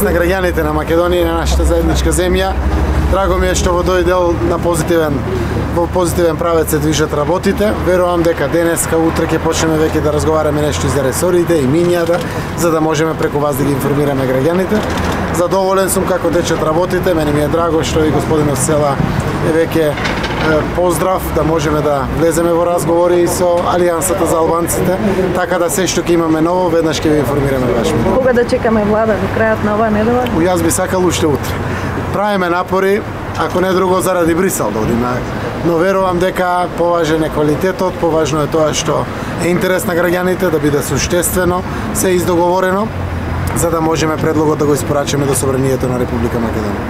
интерес на граѓаните на Македонија и на нашата заедничка земја. Драго ми е што во тој дел во позитивен правец се движат работите. Верувам дека денеска, утре ќе почнеме веќе да разговараме нешто и за ресорите и минијата, за да можеме преку вас да ги информираме граѓаните. Задоволен сум како течат работите, мене ми е драго што и господинот Села е веќе поздрав да можеме да влеземе во разговори со Алијансата за албанците, така да се што ќе имаме ново, веднаш ќе ви информираме ваш. Кога да чекаме влада до крајот на оваа недела? Јас би сакал уште утре. Правиме напори, ако не друго заради Брисел да одиме, но верувам дека поважен е квалитетот, поважно е тоа што е интерес на граѓаните, да биде суштествено, се издоговорено, за да можеме предлогот да го испорачаме до Собранието на Република Македонија.